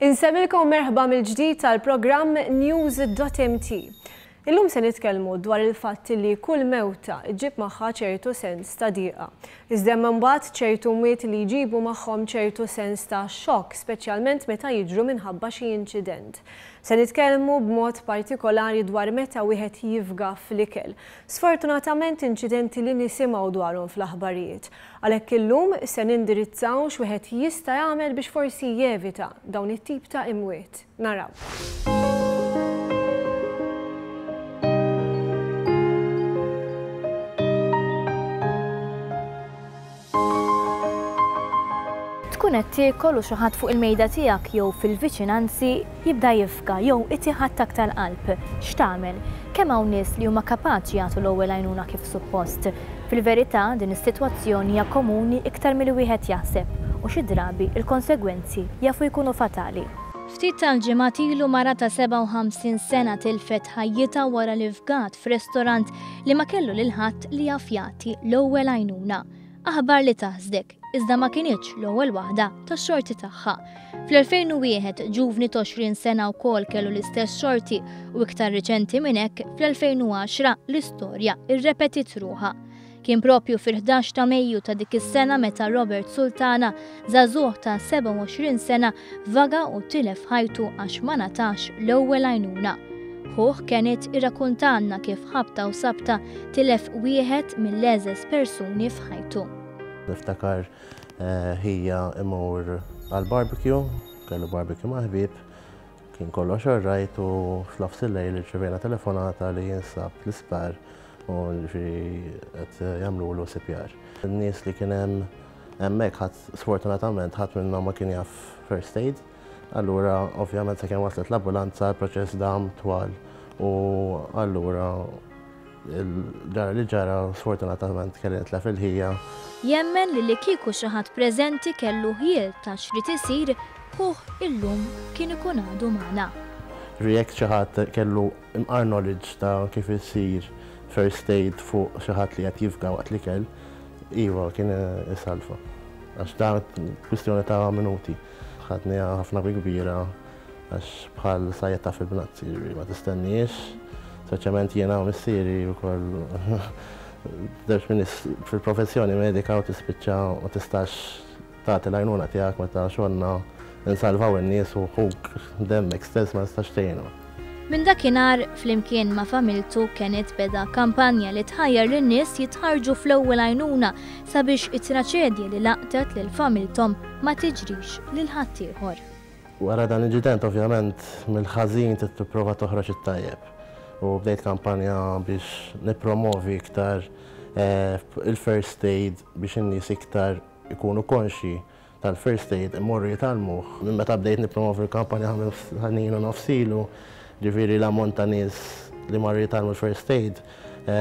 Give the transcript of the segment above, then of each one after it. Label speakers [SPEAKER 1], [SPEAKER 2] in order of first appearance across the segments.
[SPEAKER 1] Insellmilkom merħba mill-ġdid tal-programm News.mt. Illum se nitkellmu dwar il-fatt li kull mewta ġġib magħha ċertu sens ta' diqa. Iżda hemm imbagħad ċertu mwiet li jġibu magħhom ċertu sens ta' xokk, speċjalment meta jiġru minħabba xi inċident. Se nitkellmu b'mod partikolari dwar meta wieħed jifga fl-ikel. Sfortunatament inċidenti li nisimgħu dwarhom fl-aħbarijiet. Għalhekk illum se nindirizzaw x'wieħed jista' jagħmel biex forsi jevita dawn it-tip ta' imwiet. Naraw.
[SPEAKER 2] Tkun qed tiekol u xi ħadd fuq il-mejda tiegħek jew fil-viċinanzi jibda jifga jew itih attakk tal-qalb. X'tagħmel? Kemm hawn nies li huma kapaċi jagħtu l-ewwel għajnuna kif suppost? Fil-verità, din is-sitwazzjoni hija komuni iktar milli wieħed jaħseb u xi drabi l-konsegwenzi jafu jkunu fatali. Ftit tal-ġimgħat ilu mara ta' 57 sena tilfet ħajjitha wara li fgat f'restorant li ma kellu lil ħadd li jaf jagħti l-ewwel għajnuna. Aħbar li taħsdek, iżda ma kinitx l-ewwel waħda tax-xorti tagħha. Fl-2001 ġuvni ta' 20 sena wkoll kellu l-istess xorti u iktar riċenti minn hekk fl-2010 l-istorja rrepetiet ruħha. Kien propju fil-11 ta' Mejju ta' dik is-sena meta Robert Sultana, żagħżugħ ta' 27 sena, vaga u tilef ħajtu għax ma ngħatax l-ewwel għajnuna. Ħuh Kenneth irrakuntalna kif ħabta u sabta tilef wieħed mill-għeżeż persuni f'ħajtu.
[SPEAKER 3] Niftakar ħija imur għal-barbecue, kellu barbecue ma' ħbieb, kien kollox alright u f'nofs il-lejl irċevejna telefonata li jinsab l-isptar u ġifieri qed jagħmlulu CPR. In-nies li kien hemm hemmhekk ħadd sfortunatament ħadd minnhom ma kien jaf first aid. Allura ovvjament sakemm waslet l-ambulanza l-proċess dam twal u allura ġara li ġara sfortunatament kelli nitlef il-ħija.
[SPEAKER 2] Jemmen li li kieku xi ħadd preżenti kellu ħjiel ta' x'rid isir, ħuh illum kien ikun għadu magħna.
[SPEAKER 3] Ġifieri jekk xi ħadd kellu imqar knowledge ta' kif isir first aid fuq xi ħadd li qed jifga waqt l-ikel, iva kien isalva. Għax da kwistjoni ta' minuti. Ħadniha ħafna bi kbira għax bħal sajjetta fil-bnazzi, ġifieri ma tistenniex, speċjalment jiena u missieri wkoll żewġ min fil-professjoni medika u tispiċċa ma tistax tagħti l-għajnuna tiegħek meta xogħolna nsalvaw in-nies u ħuk demmek stess ma tistax tgħinu.
[SPEAKER 2] Minn dakinhar, flimkien ma' familtu, Kenneth beda kampanja li tħajjar lin-nies jitħarrġu fl-ewwel għajnuna sabiex it-traċedja li laqtet lil familthom ma tiġrix lil ħaddieħor.
[SPEAKER 3] Wara dan l-inċident ovvjament mill-ħażin trid tipprova toħroġ it-tajjeb. U bdejt kampanja biex nippromovi iktar il-first aid biex in-nies iktar ikunu konxji tal-first aid imorru jitgħallmuh. Minn meta bdejt nippromovi l-kampanja snin u nofs ilu, ġifieri l-ammont ta' nies li marru jitgħallmu l-first aid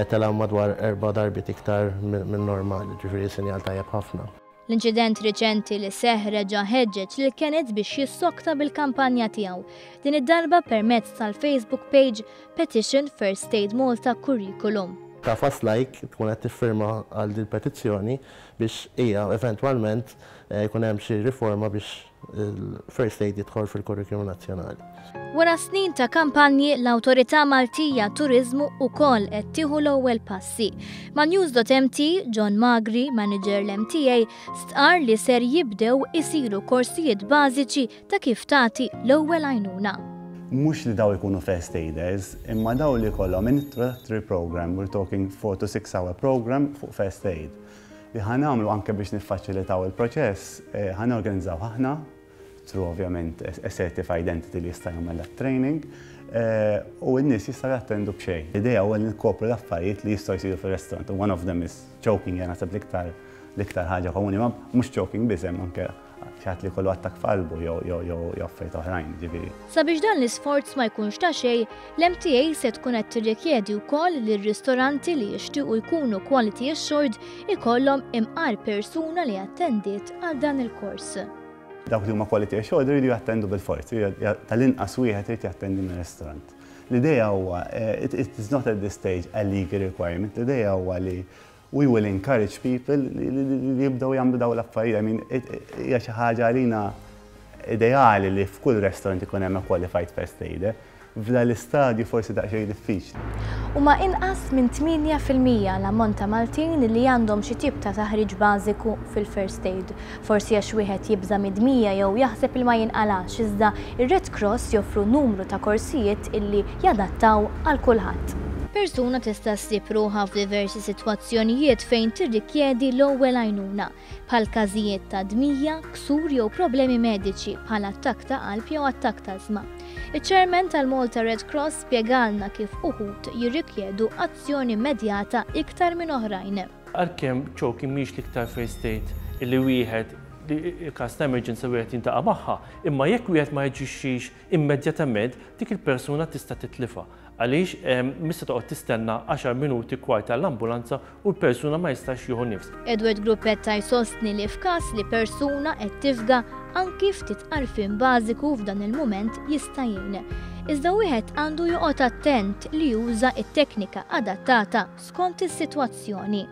[SPEAKER 3] tela' madwar erba' darbiet iktar minn normali, ġifieri sinjal tajjeb ħafna.
[SPEAKER 2] L-inċident riċenti li seħħ reġa' ħeġġeġ lil Kenneth biex jissokta bil-kampanja tiegħu, din id-darba permezz tal-Facebook page Petition First Aid Malta Curriculum.
[SPEAKER 3] Tagħfas like, tkun qed tiffirma għal din il-petizzjoni biex hija eventwalment jkun hemm xi riforma biex il-first aid jidħol fil-kurrikulum nazzjonali.
[SPEAKER 2] Wara snin ta' kampanji, l-Awtorità Maltija Turiżmu ukoll qed tieħu l-ewwel passi. Ma' News.mt, John Magri, manager l-MTA, stqarr li ser jibdew isiru korsijiet bażiċi ta' kif tagħti l-ewwel għajnuna.
[SPEAKER 4] Mhux li daw ikunu first aiders, imma daw li jkollhom introductory program, we're talking 4 to 6 hour program fuq first aid. Li ħa nagħmlu anke biex niffaċilitaw il-proċess, ħa norganizzaw aħna, through ovvjament a certified entity li jista' jagħmel dat training, u n-nies jistgħu jattendu b'xejn. L-idea huwa li nkopru l-affarijiet li jistgħu jsiru fir-restaurant. One of them is choking, jena naħseb l-iktar l-iktar ħaġa komuni, ma mhux choking biss hemm anke xi ħadd li jkollu attakk f'qalbu jew jew jew affarijiet oħrajn, ġifieri.
[SPEAKER 2] Sabiex dan l-isforz ma jkunx ta' xejn, l-MTA se tkun qed tirrikjedi wkoll li r-ristoranti li jixtiequ jkunu quality assured ikollhom imqar persuna li attendiet għal dan il-kors.
[SPEAKER 4] Dawk li huma quality assured iridu jattendu bilfors, tal-inqas wieħed irid jattendi mir-restaurant. L-idea huwa, it is not at this stage a legal requirement, l-idea huwa li we will encourage people li jibdew jagħmlu dawn l-affarijiet. I mean, hija xi ħaġa għalina. Ideali li f'kull restaurant ikun hemm a qualified first aider. F'dan l-istadju forsi daqsxejn diffiċli.
[SPEAKER 2] Huma inqas minn 8% l-ammont ta' Maltin li għandhom xi tip ta' taħriġ bażiku fil-first aid. Forsi għax wieħed jibża' mid-dmija jew jaħseb li ma jinqalax iżda ir-Red Cross joffru numru ta' korsijiet illi jadattaw għal kulħadd. Persuna tista' ssib ruħha f'diversi sitwazzjonijiet fejn tirrikjedi l-ewwel għajnuna. bħal każijiet ta' dmija, ksur jew problemi mediċi bħal attakk ta' qalb jew attakk t'ażma. Iċ-Chairman tal-Malta Red Cross spjegalna kif uħud jirrikjedu azzjoni immedjata iktar minn oħrajn.
[SPEAKER 5] Għalkemm choking mhijiex l-iktar first aid li wieħed li każ ta' emerġenza wieħed jiltaqa' magħha, imma jekk wieħed ma jaġixxix immedjatament dik il-persuna tista' titlifha. Għaliex mhix se toqgħod tistenna għaxar minuti kwarta għall-ambulanza u l-persuna ma jistax jieħu nifs.
[SPEAKER 2] Edward Gruppetta jsostni li f'każ li persuna qed tifga, anki ftit għarfien bażiku f'dan il-mument jista' jgħin. Iżda wieħed għandu joqgħod attent li juża t-teknika adattata skont is-sitwazzjoni.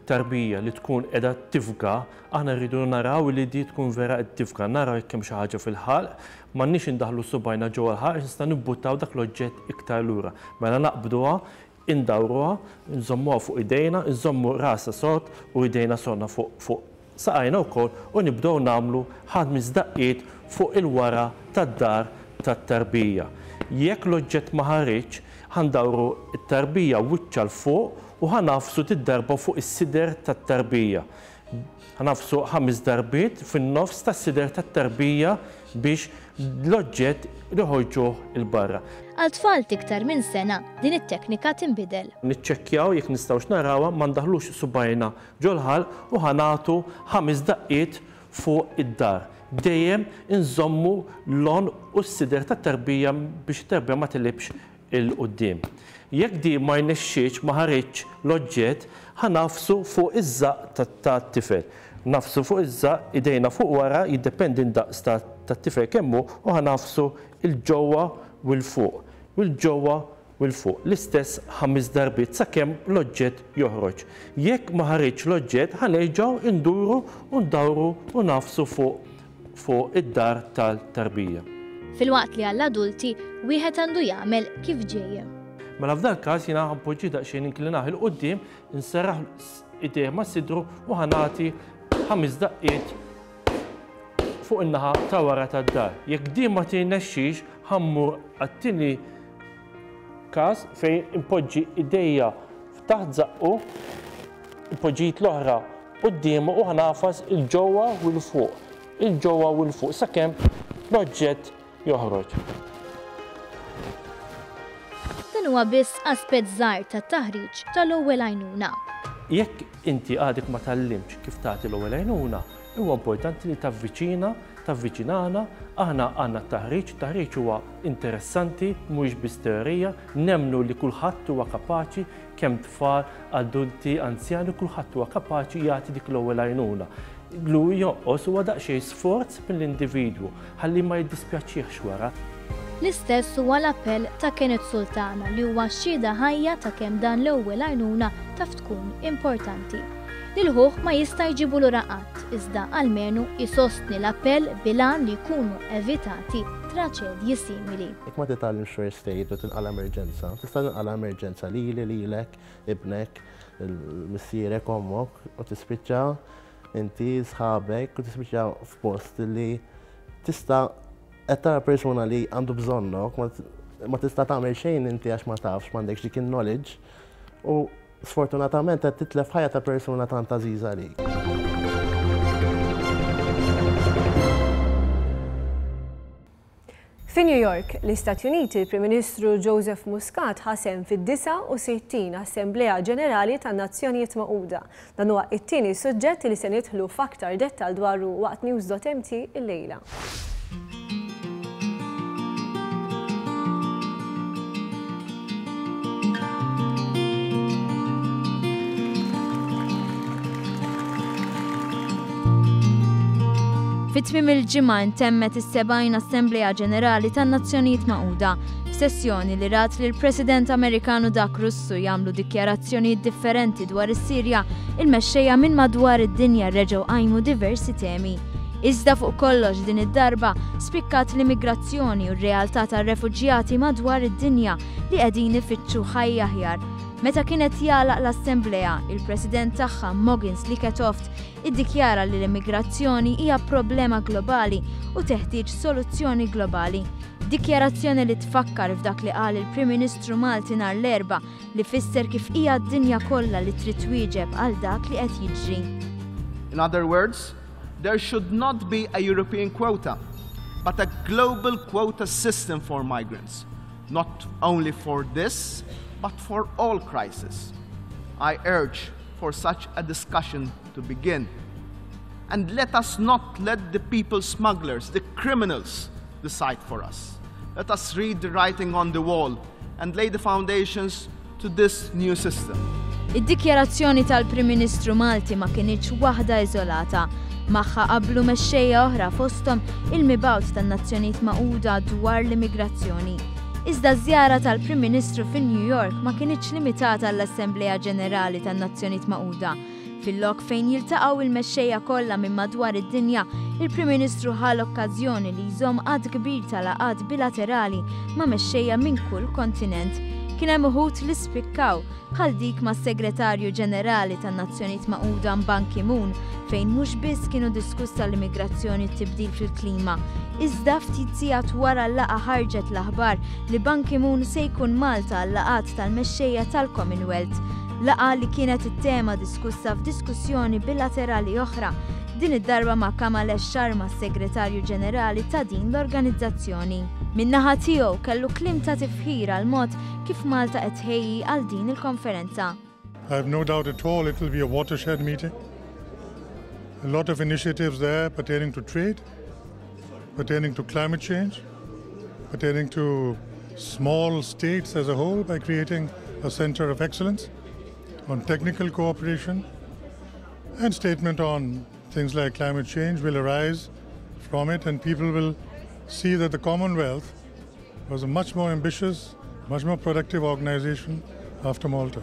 [SPEAKER 5] Tarbija li tkun qiegħda tifga, aħna rridu naraw li di tkun vera qed tifga, naraw jekk hemm xi ħaġa fil-ħalq, m'għandniex indaħħlu subgħajna ġewwa l-ħalq għax nistgħu nibbuttaw dak l-oġġett iktar lura. Mela naqbduha, indawruha, nżommuha fuq idejna, nżommu rasha sod u idejna sodna fuq fuq saqajna wkoll u nibdew nagħmlu ħames daqqiet fuq il-wara tad-dahar tat-tarbija. Jekk l-oġġett ma ħariġx, ħa ndawru t-tarbija wiċċha 'l fuq u ħa nagħfsu did-darba fuq is-sider tat-tarbija. Ħa nagħfsu ħames darbiet fin-nofs tas-sider tat-tarbija biex l-oġġett noħorġuh 'il barra.
[SPEAKER 2] Għal tfal t'iktar minn sena, din it-teknika tinbidel.
[SPEAKER 5] Niċċekkjaw jekk nistgħux narawha, ma ndaħħlux subgħajna ġol-ħalq u ħa nagħtu ħames daqqiet fuq id-dar. Dejjem inżommu l-għonq u s-sider tat-tarbija biex it-tarbija ma tilibx 'il quddiem. Jekk din ma rnexxietx, ma ħariġx l-oġġett, ħa nagħfsu fuq iż-żaqq tat-tifel. Nagħfsu fuq iż-żaqq, idejna fuq wara, jiddependi d-daqs tat-tifel kemm hu, u ħa nagħfsu 'l ġewwa u 'l fuq, u 'l ġewwa u 'l fuq, l-istess ħames darbiet sakemm l-oġġett joħroġ. Jekk ma ħariġx l-oġġett, ħa nerġgħu nduru u ndawru u nagħfsu fuq fuq id-dar tal-tarbija.
[SPEAKER 2] Filwaqt li għall-adulti, wieħed għandu jagħmel kif ġej.
[SPEAKER 5] Mela f'dal-każ jiena ħa npoġġih daqsxejn inklinah 'il quddiem, inserraħ idejh ma' sidru u ħa nagħti ħames daqqiet fuq in-naħa ta' wara tad-dar. Jekk din ma tirnexxix, ħa mmur għat-tieni każ fejn inpoġġi idejja taħt żaqqu, inpoġġi id l-oħra quddiemu u ħa nagħfas 'il ġewwa u 'l fuq, 'il ġewwa u 'l fuq sakemm l-oġġett joħroġ.
[SPEAKER 2] Dan huwa biss aspett żgħir tat-taħriġ tal-ewwel għajnuna.
[SPEAKER 5] Jekk inti għadek ma tgħallimtx kif tagħti l-ewwel għajnuna, huwa importanti li tavviċina, tavviċinana, aħna għandna t-taħriġ, it-taħriġ huwa interessanti, mhuwiex biss teorija, nemmnu li kulħadd huwa kapaċi, kemm tfal, adulti, anzjani, kulħadd huwa kapaċi jagħti dik l-ewwel għajnuna. Li jonqos huwa daqsxejn sforz mill-individwu ħalli ma jiddispjaċihx wara.
[SPEAKER 2] L-istess huwa l-appell ta' Kenneth Sultana li huwa xhieda ħajja ta' kemm dan l-ewwel għajnuna taf tkun importanti. Lil ħuh ma jista' jġibu lura qatt, iżda almenu jsostni l-appell bil-għan li jkunu evitati traċedji simili.
[SPEAKER 3] Jekk ma titgħallimx first aid u tinqala' emerġenza, tista' tinqala' emerġenza lili, lilek, ibnek, missierek, ommok u tispiċċa inti, sħabek u tispiċċa f'post li tista' qed tara persuna li għandu bżonnok, ma tista' tagħmel xejn inti għax ma tafx, m'għandekx dik in-knowledge u Sfortunatament qed titlef ħajja ta' persuna tant għażiża għalik.
[SPEAKER 1] Fi New York, l-Istati Uniti, il-Prim Ministru Joseph Muscat ħa sehem fid-69 Assemblea Ġenerali tan-Nazzjonijiet Magħquda. Dan huwa t-tieni suġġett li se nidħlu f'aktar dettall dwaru waqt News.mt illejla.
[SPEAKER 6] Fi tmiem il-ġimgħa ntemmet is-70 Assemblea Ġenerali tan-Nazzjonijiet Magħquda, f'sessjoni li rat lill-President Amerikan u dak Russu jagħmlu dikjarazzjonijiet differenti dwar is-Sirja, il-mexxejja minn madwar id-dinja reġgħu qajmu diversi temi. Iżda fuq kollox din id-darba spikkat l-immigrazzjoni u r-realtà tar-refuġjati madwar id-dinja li qegħdin ifittxu ħajja aħjar. Meta kien qed jagħlaq l-assemblea, il-President tagħha Mogens Lykketoft iddikjara li l-immigrazzjoni hija problema globali u teħtieġ soluzzjoni globali. Dikjarazzjoni li tfakkar f'dak li qal il-Prim Ministru Malti nhar l-Erbgħa li fisser kif hija d-dinja kollha li trid twieġeb għal dak li qed jiġri.
[SPEAKER 7] In other words, there should not be a European quota, but a global quota system for migrants, not only for this, but for all crises. I urge for such a discussion to begin. And let us not let the people smugglers, the criminals, decide for us. Let us read the writing on the wall and lay the foundations to this new system.
[SPEAKER 6] Id-dikjarazzjoni tal-Prim Ministru Malti ma kinitx waħda iżolata. Magħha qablu mexxejja oħra fosthom il-mibgħut tan-Nazzjonijiet Magħquda dwar l-immigrazzjoni. Iżda ż-żjara tal-Prim Ministru fi New York ma kinitx limitata għall-Assemblea Ġenerali tan-Nazzjonijiet Magħquda. Fil-lok fejn jiltaqgħu il-mexxejja kollha minn madwar id-dinja, il-Prim Ministru ħa l-okkażjoni li jżomm għadd kbir ta' laqgħat bilaterali ma' mexxejja minn kull kontinent. Kien hemm uħud li spikkaw, bħal dik mas-Segretarju Ġenerali tan-Nazzjonijiet Magħquda Ban Ki-moon, fejn mhux biss kienu diskussa l-immigrazzjoni u t-tibdil fil-klima, iżda ftit sigħat wara l-laqgħa ħarġet l-aħbar li Ban Ki-moon se jkun Malta għal-laqgħat tal-mexxejja tal-Commonwealth. Laqgħa li kienet it-tema diskussa f'diskussjoni bilaterali oħra, din id-darba ma' Kamalesh Sharma s-Segretarju Ġenerali ta' din l-organizzazzjoni. Min-naħa tiegħu kellu kliem ta' tifħir għall-mod kif Malta qed tħejji għal din il-konferenza.
[SPEAKER 8] I have no doubt at all it will be a watershed meeting. A lot of initiatives there pertaining to trade, pertaining to climate change, pertaining to small states as a whole by creating a center of excellence on technical cooperation and statement on things like climate change will arise from it and people will see that the Commonwealth was a much more ambitious, much more productive organization after Malta.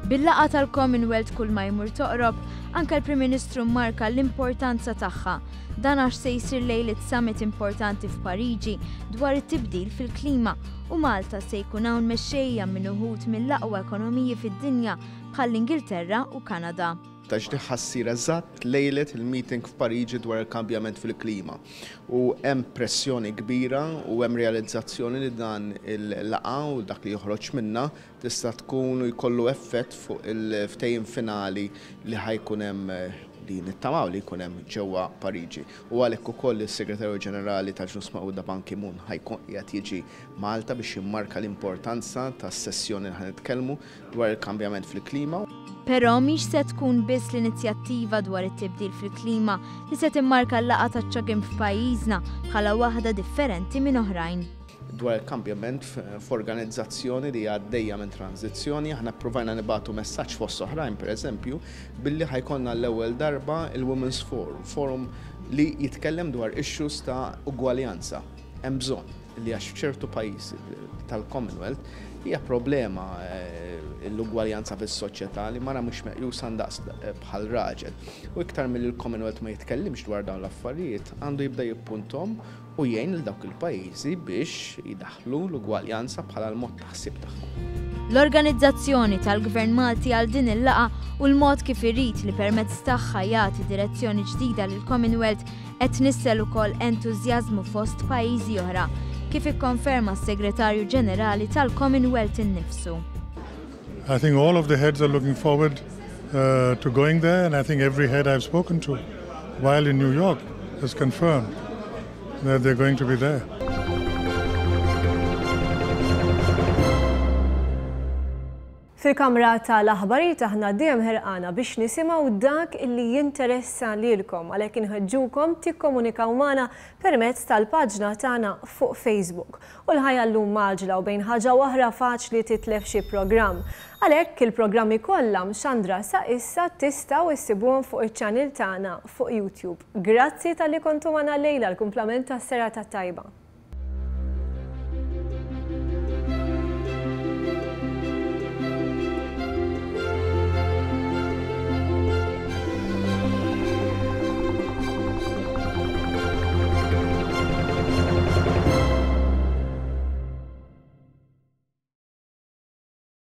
[SPEAKER 6] Bil-laqgħa tal-Commonwealth kull ma jmur toqrob, anke l-Prim Ministru marka l-importanza tagħha. Dan għax se jsir lejliet summit importanti f'Pariġi dwar it-tibdil fil-klima u Malta se jkun hawn mexxejja minn uħud mill-aqwa ekonomiji fid-dinja bħall-Ingilterra u Kanada.
[SPEAKER 7] Għax din ħa ssir eżatt lejlet il-meeting f'Pariġi dwar il-kambjament fil-klima. U hemm pressjoni kbira u hemm realizzazzjoni li dan il-laqgħa u dak li joħroġ minnha tista' tkun u jkollu effett fuq il-ftehim finali li ħa jkun hemm li nittamaw li jkun hemm ġewwa Pariġi. U għalhekk ukoll is-Segretarju Ġenerali tal-Ġnus Magħquda Ban Ki-moon ħa jkun qiegħed jiġi Malta biex jimmarka l-importanza tas-sessjoni li ħa nitkellmu dwar il-kambjament fil-klima.
[SPEAKER 6] Però mhix se tkun biss l-inizjattiva dwar it-tibdil fil-klima li se timmarka l-laqgħa taċ-CHOGM f'pajjiżna bħala waħda differenti minn oħrajn.
[SPEAKER 7] Dwar il-kambjament f'organizzazzjoni li għaddejja minn tranżizzjoni, aħna ppruvajna nibagħtu messaġġ fost oħrajn, pereżempju, billi ħa jkollna l-ewwel darba il-Women's Forum, forum li jitkellem dwar issues ta' ugwaljanza. Hemm bżonn li għax f'ċertu pajjiżi tal-Commonwealth hija problema l-ugwaljanza fis-soċjetà li mara mhux meqjusa ndaqs bħal raġel. U iktar milli l-Commonwealth ma jitkellimx dwar dawn l-affarijiet, għandu jibda jippunthom u jgħin lil dawk il-pajjiżi biex jdaħħlu l-ugwaljanza bħala l-mod ta' ħsieb tagħhom.
[SPEAKER 6] L-organizzazzjoni tal-Gvern Malti għal din il-laqgħa u l-mod kif irid li permezz tagħha jagħti direzzjoni ġdida lill-Commonwealth qed tnissel ukoll entużjażmu fost pajjiżi oħra, kif ikkonferma s-Segretarju Ġenerali tal-Commonwealth innifsu.
[SPEAKER 8] I think all of the heads are looking forward uh, to going there and I think every head I've spoken to while in New York has confirmed that they're going to be there.
[SPEAKER 1] Fil-kamra tal-aħbarijiet aħna dejjem ħerqana biex nisimgħu dak illi jinteressa lilkom għalhekk inħeġġukom tikkomunikaw magħna permezz tal-paġna tagħna fuq Facebook. U l-ħajja llum mgħaġġla u bejn ħaġa u oħra faċli titlef xi programm. Għalhekk il-programmi kollha mxandra sa issa tistgħu issibuhom fuq iċ-channel tagħna fuq YouTube. Grazzi talli kontu magħna llejla l-kumplament tas-serata t-tajba.